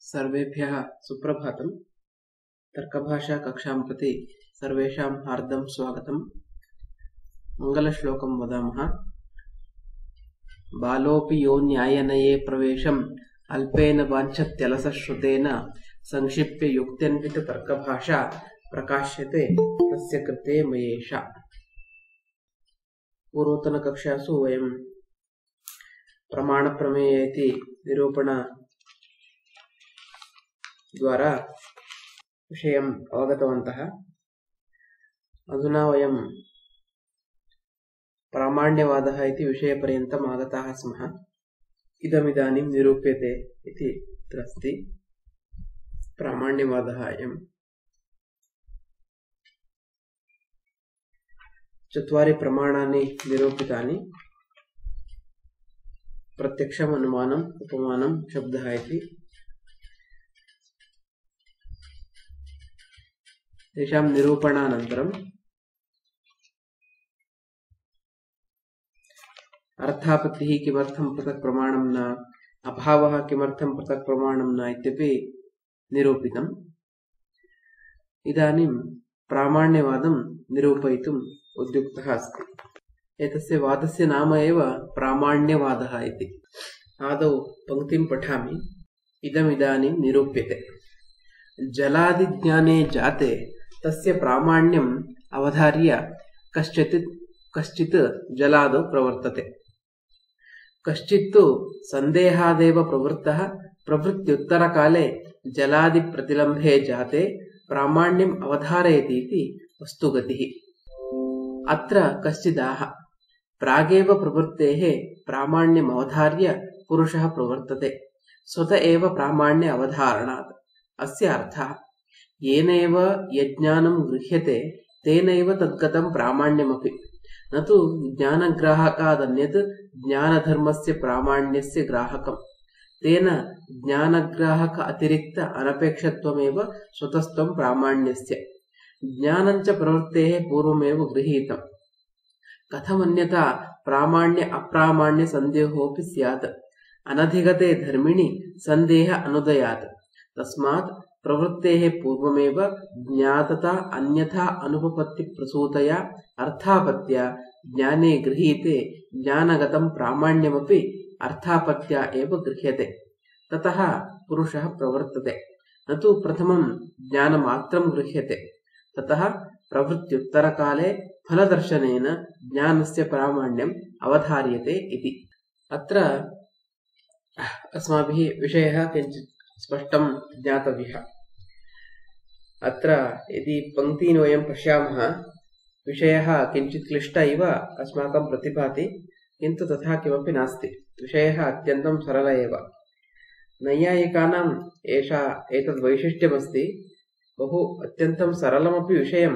सर्वेभ्यः सुप्रभातम्। तर्कभाषा कक्षां प्रति सर्वेषां हार्दं स्वागतम्। मङ्गलश्लोकं वदामः। बालोऽपि यो न्यायनये प्रवेशम् अल्पेन वाञ्छत्यलसश्रुतेन संक्षिप्य युक्त्यन्विततर्कभाषा प्रकाश्यते तस्य कृते मयेषा। पूर्वतनकक्षासु वयं प्रमाणप्रमेय इति निरूपण द्वारा विषयम् अवगतवन्तः। अधुना वयं प्रामाण्यवादः इति विषयपर्यन्तम् आगताः स्मः। इदमिदानीं निरूप्यते इति अत्र अस्ति। प्रामाण्यवादः अयम्। चत्वारि प्रमाणानि निरूपितानि। प्रत्यक्षम्, अनुमानम्, उपमानं, शब्दः इति। तेषां निरूपणानन्तरम् अर्थापत्तिः किमर्थं पृथक् प्रमाणं न, अभावः किमर्थं पृथक् प्रमाणं न इत्यपि निरूपितम्। इदानीं प्रामाण्यवादं निरूपयितुम् उद्युक्तः अस्ति। एतस्य वादस्य नाम एव प्रामाण्यवादः इति। आदौ पङ्क्तिं पठामि। इदमिदानीं निरूप्यते। जलादिज्ञाने जाते तस्य प्रामाण्यम् अवधार्य कश्चित् जलादौ प्रवर्तते। कश्चित्तु सन्देहादेव प्रवृत्तः प्रवृत्त्युत्तरकाले जलादिप्रतिलम्भे जाते प्रामाण्यम् अवधारयति इति वस्तुगतिः। अत्र कश्चिदाह प्रागेव प्रवृत्तेः प्रामाण्यम् अवधार्य पुरुषः प्रवर्तते स्वत एव प्रामाण्य अवधारणात्। अस्य अर्थः येनैव यज्ञानं गृह्यते तेनैव तद्गतं प्रामाण्यमपि, न तु ज्ञानग्राहकादन्यत् ज्ञानधर्मस्य प्रामाण्यस्य ग्राहकम्। तेन ज्ञानग्राहक अतिरिक्त अनपेक्षत्वमेव स्वतस्त्वं प्रामाण्यस्य। ज्ञानञ्च प्रवृत्तेः पूर्वमेव गृहीतम्। कथमन्यथा प्रामाण्य अप्रामाण्य सन्देहोऽपि स्यात्। अनधिगते धर्मिणि सन्देह अनुदयात्। तस्मात् प्रवृत्तेः पूर्वमेव ज्ञातता अन्यथा अनुपपत्ति प्रसूतया अर्थापत्या ज्ञाने गृहीते ज्ञानगतं प्रामाण्यमपि अर्थापत्या एव गृह्यते। ततः पुरुषः प्रवर्तते, न तु प्रथमं ज्ञानमात्रं गृह्यते। ततः प्रवृत्त्युत्तरकाले फलदर्शनेन ज्ञानस्य प्रामाण्यम् अवधार्यते इति। अत्र अस्माभिः विषयः किञ्चित् स्पष्टं ज्ञातव्यः। अत्र यदि पङ्क्तीन् वयं पश्यामः, विषयः किञ्चित् क्लिष्ट इव अस्माकं प्रतिभाति, किन्तु तथा किमपि नास्ति। विषयः अत्यन्तं सरल एव। नैयायिकानाम् एतद् वैशिष्ट्यमस्ति। बहु अत्यन्तं सरलमपि विषयं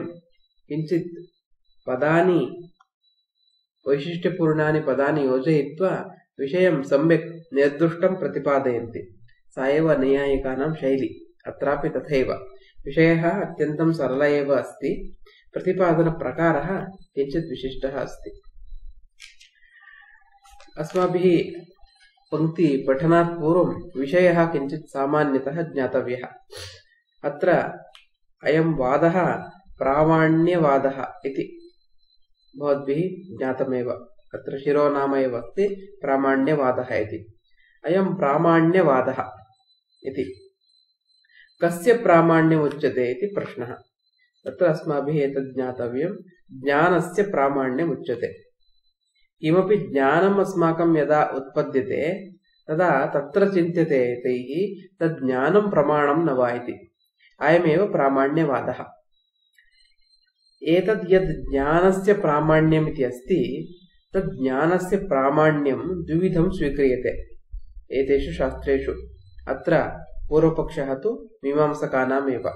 किञ्चित् पदानि, वैशिष्ट्यपूर्णानि पदानि योजयित्वा विषयं सम्यक् निर्दुष्टं प्रतिपादयन्ति। सा एव नैयायिकानां शैली। अत्रापि तथैव विषयः अत्यन्तं सरल एव अस्ति, प्रतिपादनप्रकारः किञ्चित् विशिष्टः अस्ति। अस्माभिः पङ्क्ति पठनात् पूर्वं विषयः किञ्चित् सामान्यतः ज्ञातव्यः। अत्र अयं वादः प्रामाण्यवादः इति भवद्भिः ज्ञातमेव। अत्र शिरोनाम एव अस्ति प्रामाण्यवादः इति। अयं प्रामाण्यवादः इति कस्य प्रामाण्यमुच्यते इति प्रश्नः। तत्र अस्माभिः एतद् ज्ञातव्यं। ज्ञानस्य प्रामाण्यमुच्यते। किमपि ज्ञानम् अस्माकं यदा उत्पद्यते तदा तत्र चिन्त्यते तैः तद् ज्ञानं प्रमाणं न वा इति। अयमेव प्रामाण्यवादः। एतद् यद् ज्ञानस्य प्रामाण्यम् इति अस्ति, तद् ज्ञानस्य प्रामाण्यं द्विविधं स्वीक्रियते एतेषु शास्त्रेषु। अत्र पूर्वपक्षः तु मीमांसकानाम् एव।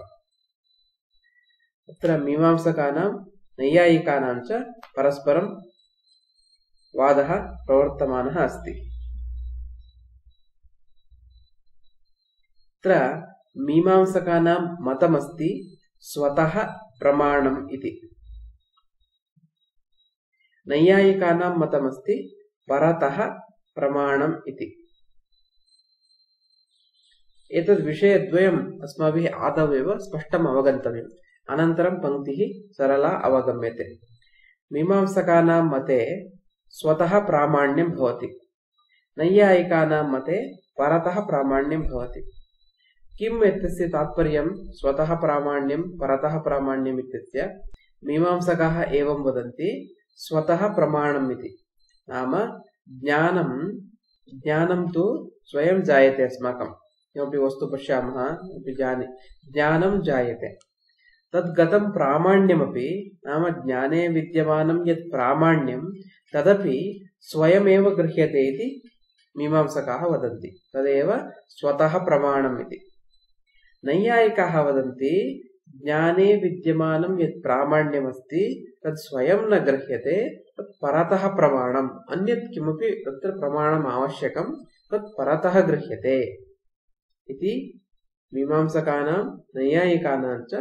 अत्र मीमांसकानां नैयायिकानां च परस्परं वादः प्रवर्तमानः अस्ति। अत्र मीमांसकानां मतमस्ति स्वतः प्रमाणम् इति। नैयायिकानां मतमस्ति परतः प्रमाणम् इति। एतद् विषयद्वयम् अस्माभिः आदौ एव स्पष्टम् अवगन्तव्यम्। अनन्तरं पङ्क्तिः सरला अवगम्यते। मीमांसकानां मते स्वतः प्रामाण्यं भवति, नैयायिकानां मते परतः प्रामाण्यं भवति। किम् एतस्य तात्पर्यं स्वतः प्रामाण्यं परतः प्रामाण्यम् इत्यस्य? मीमांसकाः एवं वदन्ति, स्वतः प्रमाणम् इति नाम ज्ञानं तु स्वयं जायते। अस्माकं किमपि वस्तु पश्यामः ज्ञानं जायते, तद्गतं प्रामाण्यमपि नाम ज्ञाने विद्यमानं यत् प्रामाण्यं तदपि स्वयमेव गृह्यते इति मीमांसकाः वदन्ति। तदेव स्वतः प्रमाणम् इति। नैयायिकाः वदन्ति ज्ञाने विद्यमानं यत् प्रामाण्यमस्ति तत् स्वयं न गृह्यते, तत् परतः प्रमाणम्, अन्यत् किमपि तत्र प्रमाणम् आवश्यकं, तत् परतः गृह्यते इति मीमांसकानां नैयायिकानां च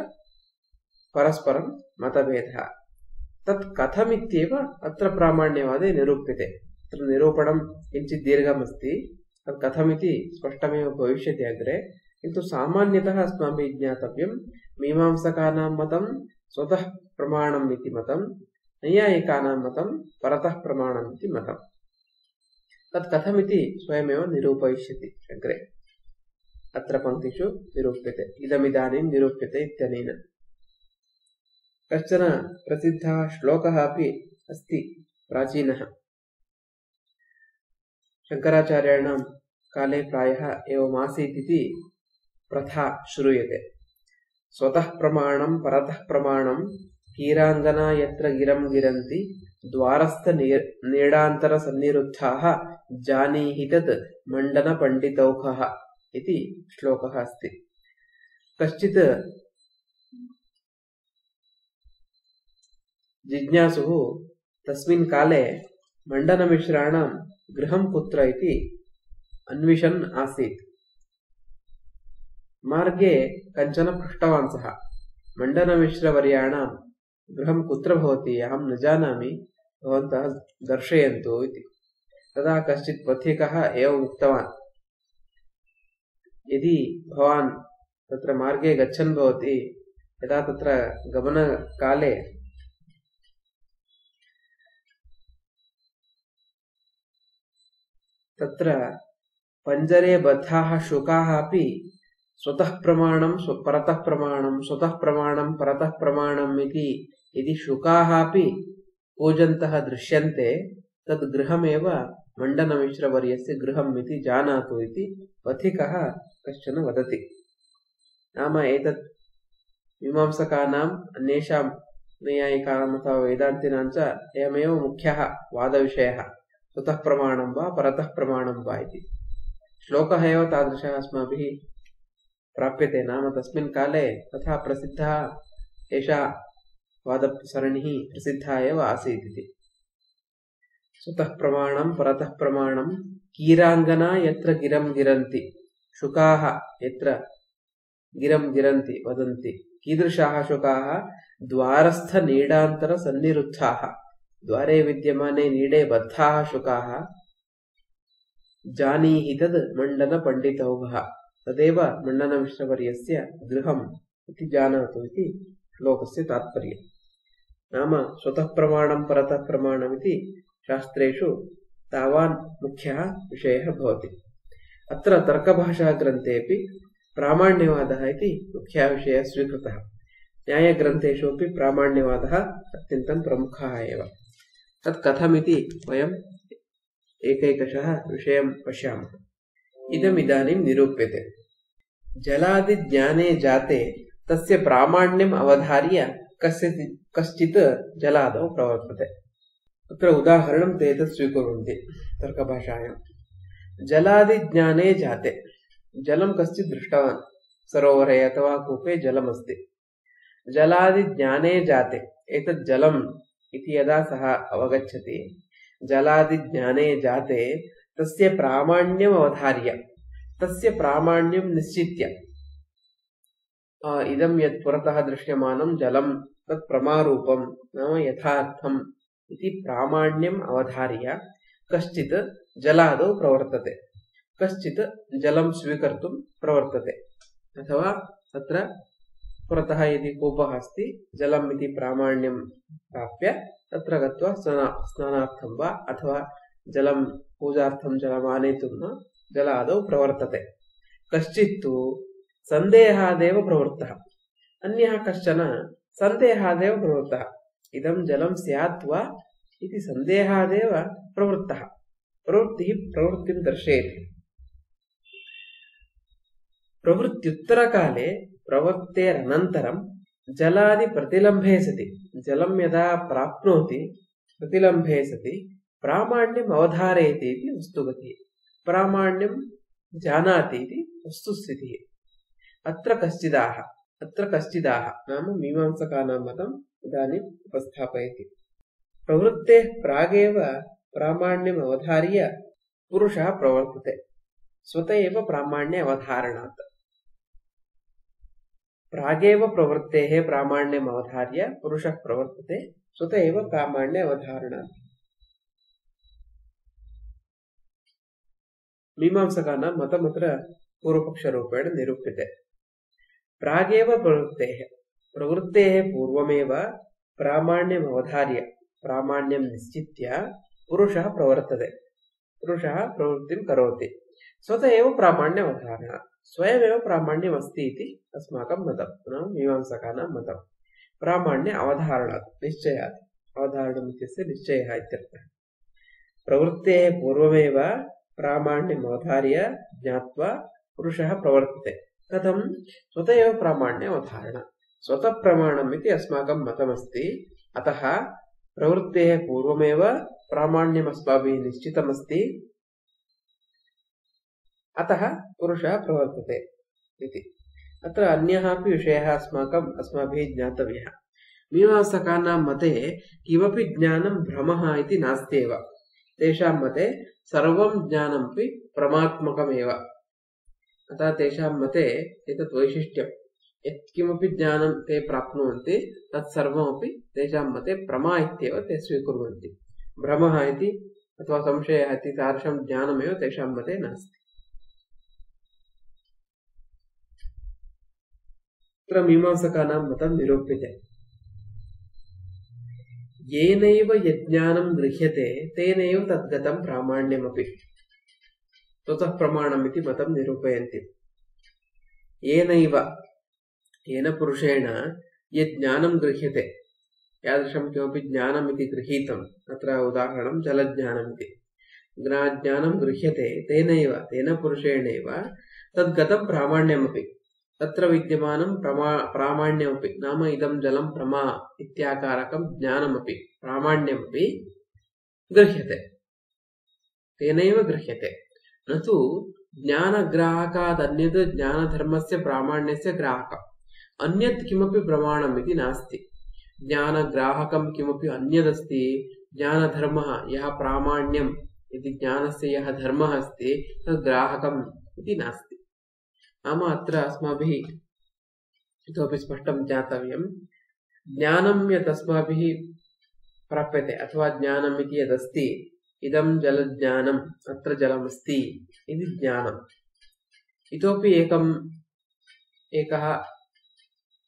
परस्परं मतभेदः। तत् कथमित्येव अत्र प्रामाण्यवादे निरूप्यते। अत्र निरूपणं किञ्चित् दीर्घमस्ति, तत् कथमिति स्पष्टमेव भविष्यति अग्रे। किन्तु सामान्यतः अस्माभिः ज्ञातव्यं, मीमांसकानां मतं स्वतः प्रमाणम् इति मतं, नैयायिकानां मतं परतः प्रमाणम् इति मतं। तत् कथमिति स्वयमेव निरूपयिष्यति अग्रे। अत्र पङ्क्तिषु निरूप्यते, इदमिदानीं निरूप्यते इत्यनेन। कश्चन प्रसिद्धः श्लोकः अपि अस्ति प्राचीनः। शङ्कराचार्याणां काले प्रायः एवमासीत् इति प्रथा श्रूयते। स्वतः प्रमाणं परतः प्रमाणं कीराङ्गना यत्र गिरं गिरन्ति द्वारस्थ नीडान्तर सन्निरुद्धाः जानीहि तत् मण्डन पण्डितौखः इति श्लोकः अस्ति। कश्चित् जिज्ञासुः तस्मिन् काले मण्डनमिश्राणां गृहं कुत्र इति अन्विषन् आसीत्। मार्गे कञ्चन पृष्टवान् सः, मण्डनमिश्रवर्याणां गृहं कुत्र भवति, अहं न जानामि, भवन्तः दर्शयन्तु इति। तदा कश्चित् पथिकः एवम् उक्तवान्, यदि भवान् तत्र मार्गे गच्छन् भवति, यदा तत्र गमनकाले तत्र पञ्जरे बद्धाः शुकाः अपि स्वतः प्रमाणं परतः प्रमाणं, स्वतः प्रमाणं परतः प्रमाणम् इति यदि शुकाः अपि पूजन्तः दृश्यन्ते, तद् गृहमेव मण्डनमिश्रवर्यस्य गृहम् इति जानातु इति पथिकः कश्चन वदति। नाम एतत् मीमांसकानाम् अन्येषां नैयायिकानाम् अथवा वेदान्तिनां च एवमेव मुख्यः वादविषयः, स्वतः प्रमाणं वा परतः प्रमाणं वा इति। श्लोकः एव तादृशः अस्माभिः प्राप्यते। नाम तस्मिन् काले तथा प्रसिद्धः एषा वादसरणिः प्रसिद्धा एव आसीत् इति। स्वतः प्रमाणं परतः प्रमाणं कीराङ्गना यत्र गिरं गिरन्ति, शुकाः यत्र गिरं गिरन्ति वदन्ति। कीदृशाः शुकाः? द्वारस्थ नीडान्तर सन्निरुद्धाः, द्वारे विद्यमाने नीडे बद्धाः शुकाः। जानीहि तद् मण्डन पण्डितौघः, तदेव मण्डनमिश्रवर्यस्य गृहम् इति जानातु इति श्लोकस्य तात्पर्यम्। नाम स्वतः प्रमाणं परतः प्रमाणमिति शास्त्रेषु तावान् मुख्यः विषयः भवति। अत्र तर्कभाषाग्रन्थेऽपि प्रामाण्यवादः इति मुख्यः विषयः स्वीकृतः। न्यायग्रन्थेषु अपि प्रामाण्यवादः अत्यन्तं प्रमुखः एव। तत् कथमिति वयम् एकैकशः विषयं पश्यामः। इदमिदानीं निरूप्यते। जलादिज्ञाने जाते तस्य प्रामाण्यम् अवधार्य कश्चित् जलादौ प्रवर्तते। अत्र उदाहरणं ते एतत् स्वीकुर्वन्ति तर्कभाषायां। जलादिज्ञाने जाते, जलं कश्चित् दृष्टवान्, सरोवरे अथवा कूपे जलमस्ति। जलादिज्ञाने जाते, एतत् जलम् इति यदा सः अवगच्छति, जलादिज्ञाने जाते तस्य प्रामाण्यम् अवधार्य, तस्य प्रामाण्यं निश्चित्य, इदं यत् पुरतः दृश्यमानं जलं तत् प्रमारूपं नाम यथार्थम् इति प्रामाण्यम् अवधार्य कश्चित् जलादौ प्रवर्तते। कश्चित् जलं स्वीकर्तुं प्रवर्तते अथवा तत्र पुरतः यदि कूपः अस्ति जलम् इति प्रामाण्यं प्राप्य तत्र गत्वा स्नानार्थं वा अथवा जलं पूजार्थं जलम् आनेतुं न जलादौ प्रवर्तते। कश्चित् तु सन्देहादेव प्रवृत्तः, अन्यः कश्चन सन्देहादेव प्रवृत्तः, इदं जलं स्यात् वा इति सन्देहादेव प्रवृत्तः। प्रवृत्तिः प्रवृत्तिं दर्शयति। प्रवृत्त्युत्तरकाले प्रवृत्तेरनन्तरं जलादि प्रतिलम्भे सति, जलं यदा प्राप्नोति प्रतिलम्भे सति प्रामाण्यम् अवधारयति इति वस्तुगतिः, प्रामाण्यं जानाति इति वस्तुस्थितिः। अत्र कश्चिदाह नाम मीमांसकानां मतम् इदानीम् उपस्थापयति। प्रवृत्तेः प्रागेव प्रामाण्यम् अवधार्य पुरुषः प्रवर्तते, स्वत एव प्रामाण्य अवधारणात्। प्रागेव प्रवृत्तेः प्रामाण्यम् अवधार्य पुरुषः प्रवर्तते, स्वत एव प्रामाण्य अवधारणात्। मीमांसकानां मतमत्र पूर्वपक्षरूपेण निरूप्यते। प्रागेव प्रवृत्तेः पूर्वमेव प्रामाण्यम् अवधार्य प्रामाण्यं निश्चित्य पुरुषः प्रवर्तते, पुरुषः प्रवृत्तिं करोति, स्वत एव प्रामाण्य अवधारणा, स्वयमेव प्रामाण्यम् अस्ति इति अस्माकं मतं, नाम मीमांसकानां मतं। प्रामाण्य अवधारणात् निश्चयात्, अवधारणम् इत्यस्य निश्चयः इत्यर्थः। प्रवृत्तेः पूर्वमेव प्रामाण्यम् अवधार्य ज्ञात्वा पुरुषः प्रवर्तते। कथं? स्वत एव प्रामाण्य अवधारणा, स्वतः प्रमाणम् इति अस्माकं मतमस्ति। अतः प्रवृत्तेः पूर्वमेव प्रामाण्यम् अस्माभिः निश्चितमस्ति, अतः पुरुषः प्रवर्तते इति। अत्र अन्यः अपि विषयः अस्माभिः ज्ञातव्यः। मीमांसकानां मते किमपि ज्ञानं भ्रमः इति नास्त्येव। तेषां मते सर्वं ज्ञानमपि प्रमात्मकमेव। अतः तेषां मते एतत् वैशिष्ट्यं, यत्किमपि ज्ञानं ते प्राप्नुवन्ति तत्सर्वमपि तेषां मते प्रमा इत्येव ते स्वीकुर्वन्ति। भ्रमः इति अथवा संशयः इति तादृशं ज्ञानमेव तेषां मते नास्ति। अत्र मीमांसकानां मतं निरूप्यते। येनैव यज्ञानं गृह्यते तेनैव तद्गतं प्रामाण्यमपि, ततः प्रमाणम् इति मतं निरूपयन्ति। येनैव, येन पुरुषेण यज्ञानं गृह्यते, यादृशं किमपि ज्ञानम् इति गृहीतम्, अत्र उदाहरणं जलज्ञानम् इति। ज्ञानं गृह्यते तेनैव, तेन पुरुषेणैव तद्गतं प्रामाण्यमपि, तत्र विद्यमानं प्रामाण्यमपि, नाम इदं जलं प्रमा इत्याकारकं ज्ञानमपि प्रामाण्यमपि गृह्यते, तेनैव गृह्यते। न तु ज्ञानग्राहकादन्यत् ज्ञानधर्मस्य प्रामाण्यस्य ग्राहकम्, अन्यत् किमपि प्रमाणम् इति नास्ति। ज्ञानग्राहकं किमपि अन्यदस्ति, ज्ञानधर्मः यः प्रामाण्यम् इति ज्ञानस्य यः धर्मः अस्ति तद् ग्राहकम् इति नास्ति। नाम अत्र अस्माभिः इतोपि स्पष्टं ज्ञातव्यं, ज्ञानं यत् अस्माभिः प्राप्यते अथवा ज्ञानम् इति यदस्ति, इदं जलज्ञानम्, अत्र जलमस्ति इति ज्ञानम्। इतोपि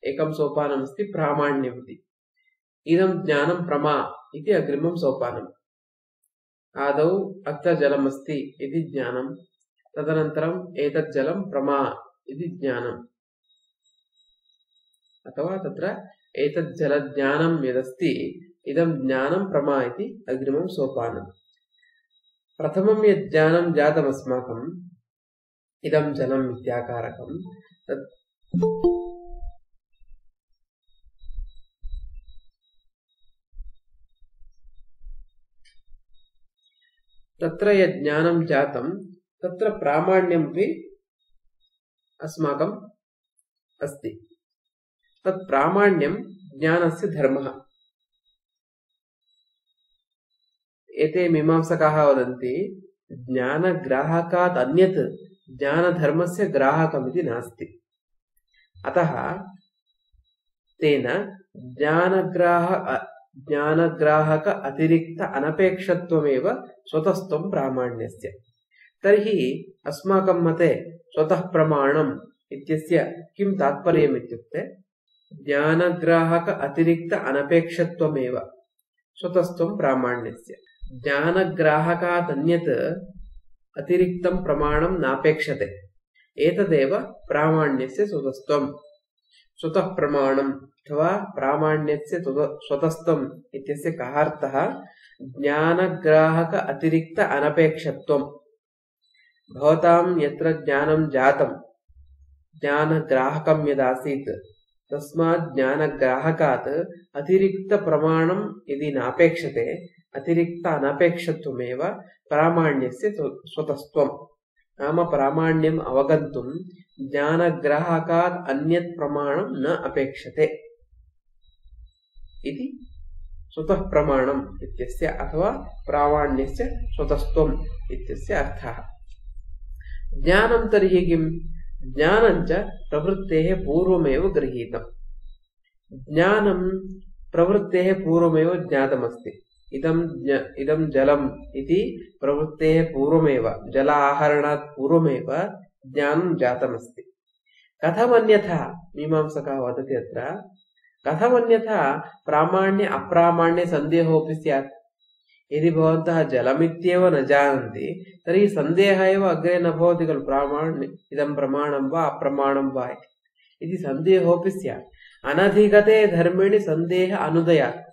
एकं सोपानमस्ति प्रामाण्यम् इति। इदं ज्ञानं प्रमा इति अग्रिमं सोपानम्। आदौ अत्र जलमस्ति इति ज्ञानं, तदनन्तरम् एतत् जलं प्रमा इति ज्ञानम्, अथवा तत्र एतत् जलज्ञानं यदस्ति इदं ज्ञानं प्रमा इति अग्रिमं सोपानम्। प्रथमं यत् ज्ञानं जातमस्माकम्, इदं जलम् इत्याकारकं, तत्र यत् ज्ञानं जातं तत्र प्रामाण्यमपि अस्माकम् अस्ति। तत् प्रामाण्यं ज्ञानस्य धर्मः। एते मीमांसकाः वदन्ति ज्ञानग्राहकात् अन्यत् ज्ञानधर्मस्य ग्राहकमिति नास्ति। अतः तेन ज्ञानग्राहक अतिरिक्त अनपेक्षत्वमेव स्वतस्त्वं प्रामाण्यस्य। तर्हि अस्माकं मते स्वतः प्रमाणम् इत्यस्य किं तात्पर्यम् इत्युक्ते ज्ञानग्राहक अतिरिक्त अनपेक्षत्वमेव स्वतस्त्वं प्रामाण्यस्य। ज्ञानग्राहकात् अन्यत् अतिरिक्तं प्रमाणं नापेक्षते, एतदेव प्रामाण्यस्य स्वतस्त्वं। स्वतः प्रमाणम् अथवा प्रामाण्यस्य स्वतस्त्वम् इत्यस्य कः अर्थः? ज्ञानग्राहक अतिरिक्त अनपेक्षत्वम्। भवतां यत्र ज्ञानं जातं, ज्ञानग्राहकं यदासीत्, तस्मात् ज्ञानग्राहकात् अतिरिक्त प्रमाणं यदि नापेक्षते, अतिरिक्त अनपेक्षत्वमेव प्रामाण्यस्य स्वतस्त्वम्। नाम प्रामाण्यम् अवगन्तुं ज्ञानग्राहकात् अन्यत् प्रमाणं न अपेक्षते इति स्वतः प्रमाणम् इत्यस्य अथवा प्रामाण्यस्य स्वतस्त्वम् इत्यस्य अर्थः। ज्ञानं तर्हि किम्? ज्ञानं च प्रवृत्तेः पूर्वमेव गृहीतम्। ज्ञानं प्रवृत्तेः पूर्वमेव ज्ञातमस्ति। इदं जलम् इति प्रवृत्तेः पूर्वमेव, जलाहरणात् पूर्वमेव ज्ञानं जातमस्ति। कथमन्यथा? मीमांसकः वदति अत्र, कथमन्यथा प्रामाण्य अप्रामाण्य सन्देहोऽपि स्यात्। यदि भवन्तः जलमित्येव न जानन्ति तर्हि सन्देहः एव अग्रे न भवति खलु, प्रामाण्य इदं प्रमाणं वा अप्रमाणं वा इति सन्देहोऽपि स्यात्। अनधिगते धर्मिणि सन्देह अनुदयात्।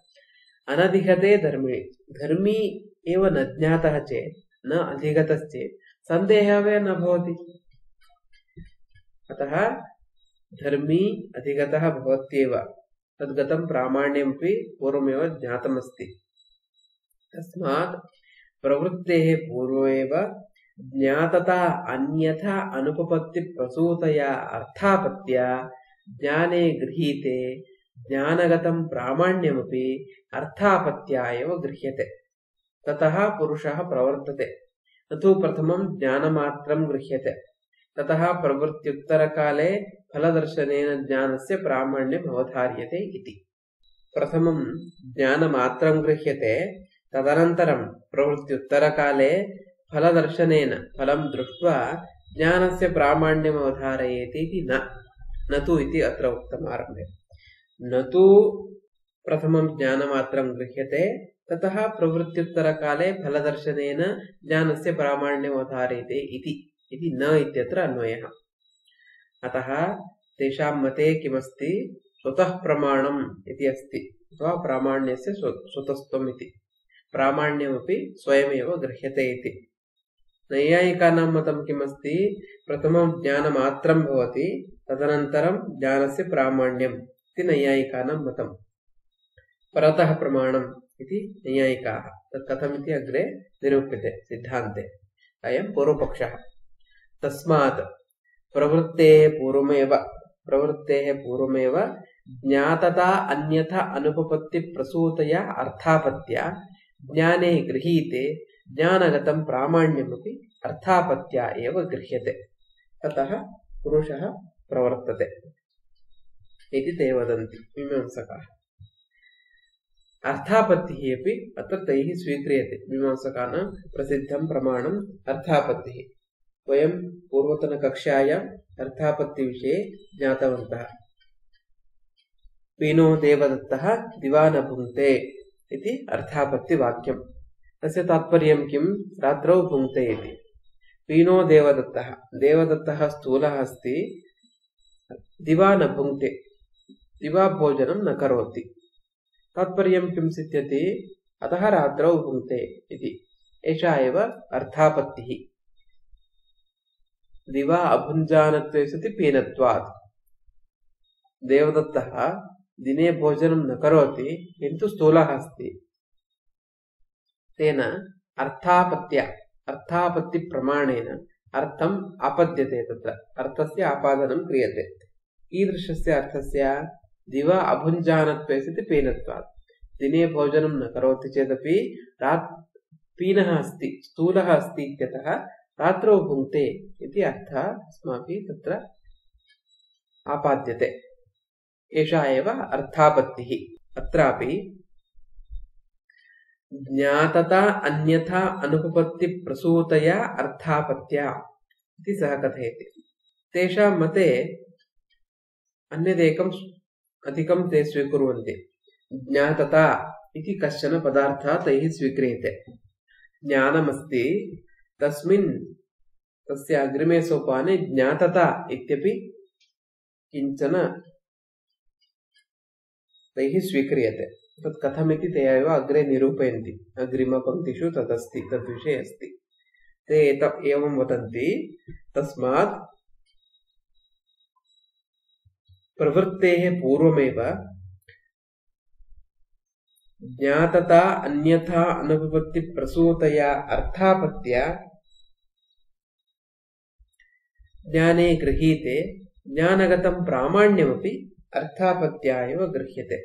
अनधिगते धर्मिणि, धर्मी एव न ज्ञातः चेत्, न अधिगतश्चेत् सन्देहः न भवति। अतः धर्मी अधिगतः भवत्येव, तद्गतं प्रामाण्यमपि पूर्वमेव ज्ञातमस्ति। तस्मात् प्रवृत्तेः पूर्वमेव ज्ञातता अन्यथा अनुपपत्ति प्रसूतया अर्थापत्या ज्ञाने गृहीते ज्ञानगतं प्रामाण्यमपि अर्थापत्या एव गृह्यते। ततः पुरुषः प्रवर्तते, न तु प्रथमं ज्ञानमात्रं गृह्यते। ततः प्रवृत्त्युत्तरकाले फलदर्शनेन ज्ञानस्य प्रामाण्यम् अवधार्यते इति। प्रथमं ज्ञानमात्रं गृह्यते, तदनन्तरं प्रवृत्त्युत्तरकाले फलदर्शनेन फलं दृष्ट्वा ज्ञानस्य प्रामाण्यम् अवधारयेति इति न तु इति अत्र उक्तम् आरम्भे। न तु प्रथमं ज्ञानमात्रं गृह्यते, ततः प्रवृत्त्युत्तरकाले फलदर्शनेन ज्ञानस्य प्रामाण्यम् अवधारयते इति न इत्यत्र अन्वयः। अतः तेषां मते किमस्ति? स्वतः प्रमाणम् इति अस्ति, अथवा प्रामाण्यस्य स्वतस्त्वम् इति। प्रामाण्यमपि स्वयमेव गृह्यते इति। नैयायिकानां मतं किमस्ति? प्रथमं ज्ञानमात्रं भवति, तदनन्तरं ज्ञानस्य प्रामाण्यम् इति नैयायिकानां मतं। परतः प्रमाणम् इति नैयायिकाः। तत् कथमिति अग्रे निरूप्यते सिद्धान्ते। अयं पूर्वपक्षः। तस्मात् प्रवृत्तेः पूर्वमेव ज्ञातता अन्यथा अनुपपत्ति प्रसूतया अर्थापत्या ज्ञाने गृहीते ज्ञानगतं प्रामाण्यमपि अर्थापत्या एव गृह्यते। ततः पुरुषः प्रवर्तते इति ते वदन्ति मीमांसकाः। अर्थापत्तिः अपि अत्र तैः स्वीक्रियते। मीमांसकानां प्रसिद्धं प्रमाणम् अर्थापत्तिः। वयं पूर्वतनकक्षायाम् अर्थापत्तिविषये ज्ञातवन्तः। पीनो देवदत्तः दिवा न भुङ्क्ते इति अर्थापत्तिवाक्यम्। तस्य तात्पर्यं किं? रात्रौ भुङ्क्ते इति। पीनो देवदत्तः, देवदत्तः स्थूलः अस्ति, दिवा न भुङ्क्ते, दिवा भोजनं न करोति। तात्पर्यं किं सिद्ध्यति? अतः रात्रौ भुङ्क्ते इति। एषा एव अर्थापत्तिः। दिवा अभुञ्जानत्वे सति पीनत्वात्। देवदत्तः दिने भोजनं न करोति, किन्तु स्थूलः अस्ति। तेन अर्थापत्तिप्रमाणेन अर्थम् आपद्यते। तत्र अर्थस्य आपादनं क्रियते। कीदृशस्य अर्थस्य? दिवा अभुञ्जानत्वे सति पीनत्वात्। दिने भोजनं न करोति चेदपि पीनः अस्ति, स्थूलः अस्ति इत्यतः रात्रौ भुङ्क्ते इति अर्थः अस्माभिः तत्र आपाद्यते। एषा एव अर्थापत्तिः। अत्रापि ज्ञातता अन्यथा अनुपपत्ति प्रसूतया अर्थापत्या इति सः कथयति। तेषां मते अन्यदेकम् अधिकं ते स्वीकुर्वन्ति। ज्ञातता इति कश्चन पदार्थः तैः स्वीक्रियते। ज्ञानमस्ति, तस्मिन् तस्य अग्रिमे सोपाने ज्ञातता इत्यपि किञ्चन तैः स्वीक्रियते। तत् कथमिति ते एव अग्रे निरूपयन्ति। अग्रिमपङ्क्तिषु तदस्ति, तद्विषये अस्ति। ते एवं वदन्ति, तस्मात् प्रवृत्तेः पूर्वमेव ज्ञातता अन्यथा अनुपपत्ति प्रसूतया अर्थापत्या ज्ञाने गृहीते ज्ञानगतं प्रामाण्यमपि अर्थापत्या एव गृह्यते।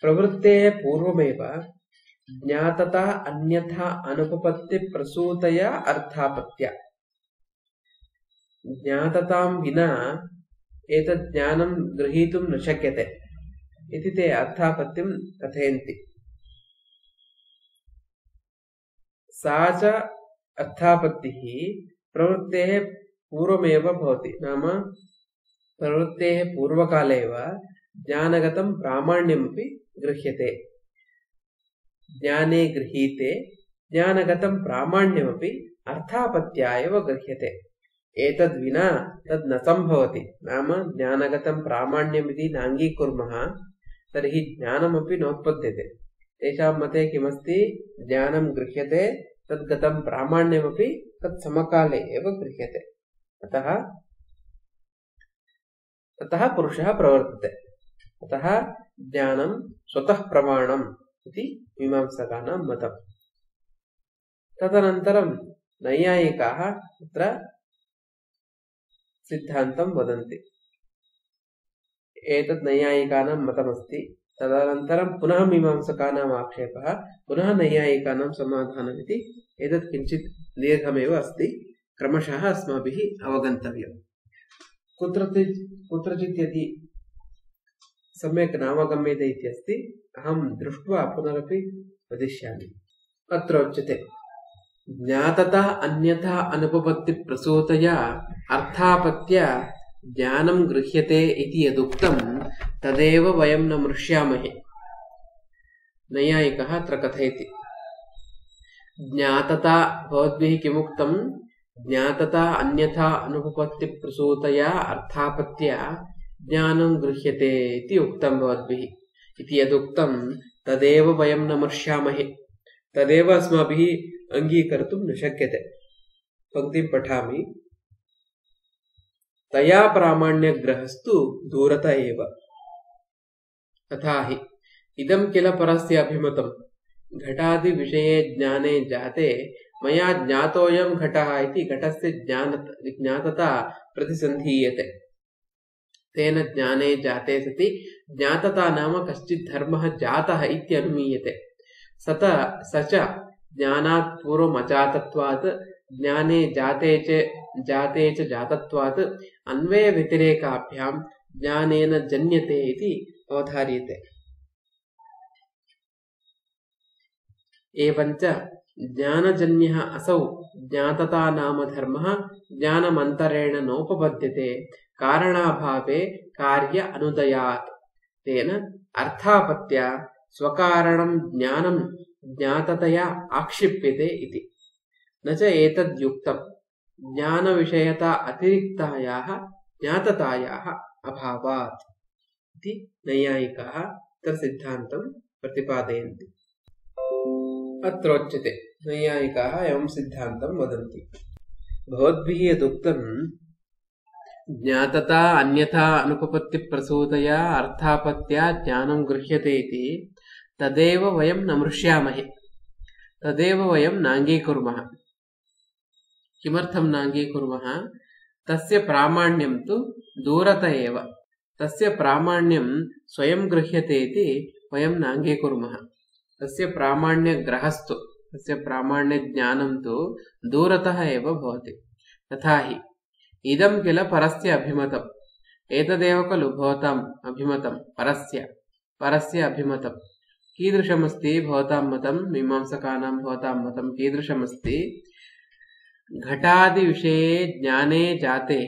प्रवृत्तेः पूर्वमेव ज्ञातता अन्यथा अनुपपत्ति प्रसूतया अर्थापत्या, ज्ञाततां विना एतत् ज्ञानं गृहीतुं न शक्यते इति ते अर्थापत्तिं कथयन्ति। सा च अर्थापत्तिः प्रवृत्तेः पूर्वमेव भवति। नाम प्रवृत्तेः पूर्वकाले एव ज्ञानगतं प्रामाण्यमपि गृह्यते। ज्ञाने गृहीते ज्ञानगतं प्रामाण्यमपि अर्थापत्या एव गृह्यते। एतद्विना तद् न सम्भवति। नाम ज्ञानगतं प्रामाण्यमिति नाङ्गीकुर्मः तर्हि ज्ञानमपि नोत्पद्यते। तेषां मते किमस्ति, ज्ञानं गृह्यते, तद्गतं प्रामाण्यमपि तत् समकाले एव गृह्यते। अतः पुरुषः प्रवर्तते। अतः ज्ञानं स्वतः प्रमाणम् इति मीमांसकानां मतम्। तदनन्तरं नैयायिकाः तत्र सिद्धान्तं वदन्ति। एतत् नैयायिकानां मतमस्ति। तदनन्तरं पुनः मीमांसकानाम् आक्षेपः, पुनः नैयायिकानां समाधानमिति एतत् किञ्चित् दीर्घमेव अस्ति। क्रमशः अस्माभिः अवगन्तव्यम्। कुत्रचित् यदि सम्यक् नावगम्यते इत्यस्ति, अहं दृष्ट्वा पुनरपि वदिष्यामि। अत्र उच्यते, ज्ञातता अन्यथा अनुपपत्ति प्रसूतया अर्थापत्या ज्ञानं गृह्यते इति यदुक्तं तदेव वयं न मृष्यामहे। नैयायिकः अत्र कथयति, ज्ञातता भवद्भिः किमुक्तं, ज्ञातता अन्यथा अनुपपत्ति प्रसूतया अर्थापत्या ज्ञानं गृह्यते इति उक्तं भवद्भिः इति यदुक्तं तदेव वयं न मृष्यामहे। तदेव अस्माभिः अङ्गीकर्तुं न शक्यते। पङ्क्तिं पठामि। तया प्रामाण्यग्रहस्तु दूरत एव। तथा हि इदं किल परस्य अभिमतं, घटादिविषये ज्ञाने जाते मया ज्ञातोऽयं घटः इति घटस्य ज्ञातता प्रतिसन्धीयते। तेन ज्ञाने जाते सति ज्ञातता नाम कश्चित् धर्मः जातः इत्यनुमीयते। स च ज्ञानात् पूर्वमजातत्वात् ज्ञाने जाते च जातत्वात् अन्वय व्यतिरेकाभ्यां ज्ञानेन जन्यते इति अवधार्यते। एवञ्च ज्ञानजन्यः असौ ज्ञातता नाम धर्मः ज्ञानमन्तरेण नोपपद्यते कारणाभावे कार्य अनुदयात्। तेन अर्थापत्या स्वकारणं ज्ञानं ज्ञाततया आक्षिप्यते इति। न च एतद्युक्तं ज्ञानविषयता अतिरिक्तायाः ज्ञाततायाः अभावात् इति नैयायिकाः तत्र सिद्धान्तं प्रतिपादयन्ति। अत्रोच्यते, नैयायिकाः एवं सिद्धान्तं वदन्ति। भवद्भिः यदुक्तं ज्ञातता अन्यथा अनुपपत्ति प्रसूतया अर्थापत्या ज्ञानं गृह्यते इति तदेव वयं न मृष्यामहे, तदेव वयं नाङ्गीकुर्मः। किमर्थं नाङ्गीकुर्मः? तस्य प्रामाण्यं तु दूरत एव। तस्य प्रामाण्यं स्वयं गृह्यते इति वयं नाङ्गीकुर्मः। तस्य प्रामाण्यग्रहस्तु, तस्य प्रामाण्यज्ञानं तु दूरतः एव भवति। तथा हि इदं किल परस्य अभिमतम्, एतदेव खलु भवताम् अभिमतं, परस्य अभिमतं। कीदृशमस्ति भवतां मतं मीमांसकानां भवतां मतं कीदृशमस्ति घटादिविषये ज्ञाने जाते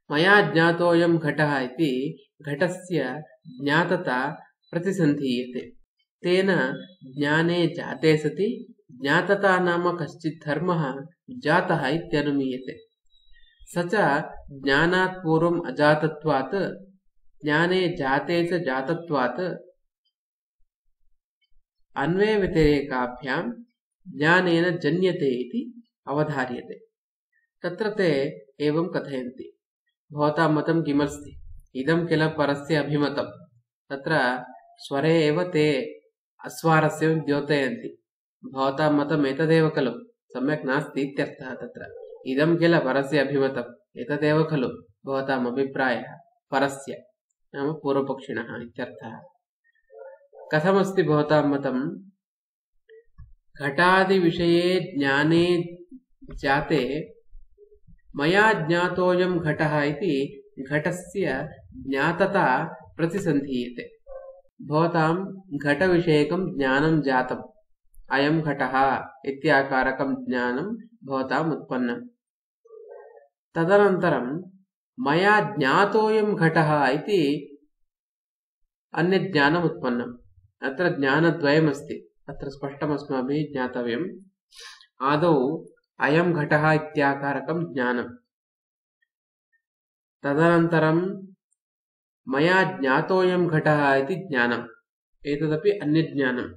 मया ज्ञातोऽयं घटः इति घटस्य ज्ञातता प्रतिसन्धीयते तेन ज्ञाने जाते सति ज्ञातता नाम कश्चित् धर्मः जातः इत्यनुमीयते स च ज्ञानात् पूर्वम् अजातत्वात् ज्ञाने जाते च जातत्वात् अन्वयव्यतिरेकाभ्यां ज्ञानेन जन्यते इति अवधार्यते तत्र ते एवं कथयन्ति भवतां मतं किमस्ति इदं किल परस्य अभिमतं तत्र स्वरे एव ते अस्वारस्य द्योतयन्ति भवतां मतम् एतदेव खलु सम्यक् नास्ति इत्यर्थः तत्र इदं किल परस्य अभिमतम् एतदेव खलु भवताम् अभिप्रायः परस्य नाम पूर्वपक्षिणः इत्यर्थः कथमस्ति भवतां मतं घटादिविषये ज्ञाने जाते मया ज्ञातोऽयं घटः इति घटस्य ज्ञातता प्रतिसन्धीयते भवतां घटविषयकं ज्ञानं जातम् अयं घटः इत्याकारकं ज्ञानं भवताम् उत्पन्नं तदनन्तरं मया ज्ञातोऽयं घटः इति अन्यत् ज्ञानम् उत्पन्नम् अत्र ज्ञानद्वयमस्ति अत्र स्पष्टमस्माभिः ज्ञातव्यम् आदौ अयं घटः इत्याकारकं ज्ञानम् तदनन्तरं मया ज्ञातोऽयं घटः इति ज्ञानम् एतदपि अन्यज्ञानम्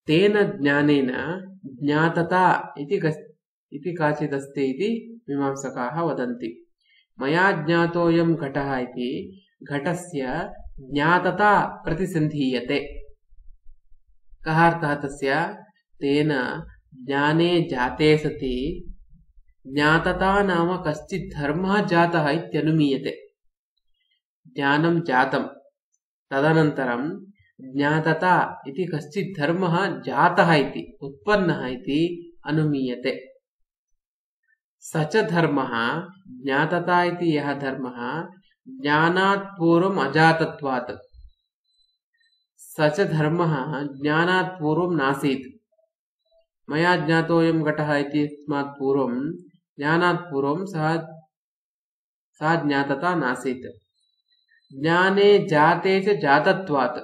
तेन ज्ञानेन ज्ञातता इति काचिदस्ति इति मीमांसकाः वदन्ति मया ज्ञातोऽयं घटः इति घटस्य ज्ञातता प्रतिसन्धीयते कः अर्थः तस्य तेन ज्ञाने जाते सति ज्ञातता नाम कश्चित् धर्मः जातः इत्यनुमीयते ज्ञानं जातं तदनन्तरं ज्ञातता इति कश्चित् धर्मः जातः इति उत्पन्नः इति अनुमीयते स च धर्मः ज्ञातता इति यः धर्मः ज्ञानात् पूर्वम् अजातत्वात् स च धर्मः ज्ञानात् पूर्वं नासीत् मया ज्ञातोऽयं घटः इत्यस्मात् पूर्वं ज्ञानात् पूर्वं सा ज्ञातता नासीत् ज्ञाने जाते च जातत्वात्